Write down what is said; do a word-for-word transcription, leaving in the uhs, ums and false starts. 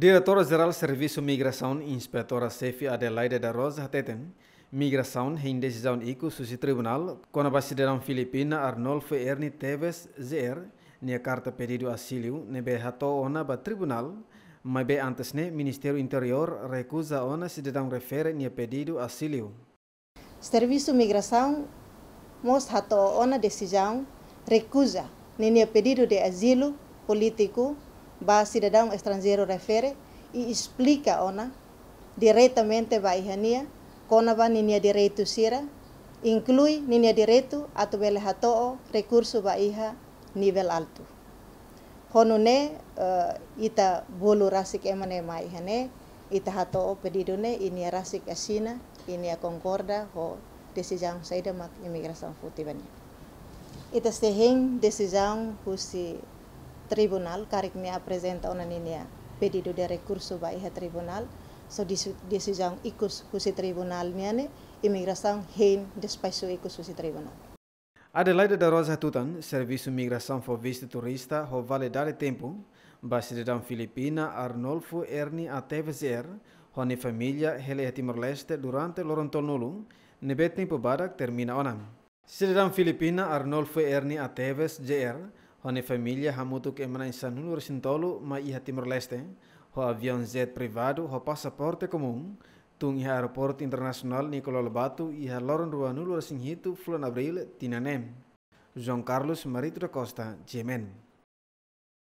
Diretora Jerál Servisu Migrasaun, Inspetora Xefe Adelaide da Rosa hateten, migrasaun hein desizaun ikus husi tribunál kona-ba sidadaun Filipina Arnolfo Erni Teves J R nia karta pedidu azilu ne'ebé hato'o ona ba tribunál, maibé antes ne'e Ministériu Interiór rekuza ona sidadaun refere nia pedidu azilu. Servisu Migrasaun mós hato'o ona desizaun rekuza ninia pedidu de azilu polítiku ba sidadaun estranjeiru refere i esplika ona diretamente ba iha nia kona-ba ninia direitu sira, inklui ninia direitu atu bele hato'o rekursu ba iha nivel altu. Ho nune'e, eh, ita bolu rasik ema ne'e mai iha ne'e, ita hato'o pedidu ne'e, i nia rasik asina, i nia konkorda ho desizaun saida mak imigrasaun foti ba nia. Ita sei hein desizaun husi tribunál, karik nia aprezenta ona ninia pedidu de rekursu ba iha tribunál, só desi-, desizaun ikus husi tribunál nian ne'e, imigrasaun hein despaxu ikus husi tribunál. Adelaide da Rosa hatutan, Servisu Migrasaun fó vistu turista ho validade tempu ba sidadaun Filipina Arnolfo Erni A Teves J R ho nia família hela iha Timor-Leste durante loron tolunulu, ne'ebé tempu badak termina ona. Sidadaun Filipina Arnolfo Erni A Teves J R ho nia família hamutuk ema na'in sanulu-resin-tolu mai iha Timor-Leste ho aviaun jet privadu ho pasaporte komún, tun iha Aeroportu Internasionál Nicolau Lobato iha loron ruanulu-resin-hitu fulan Abríl tinan ne'e. João Carlos Marito da Costa, G M N.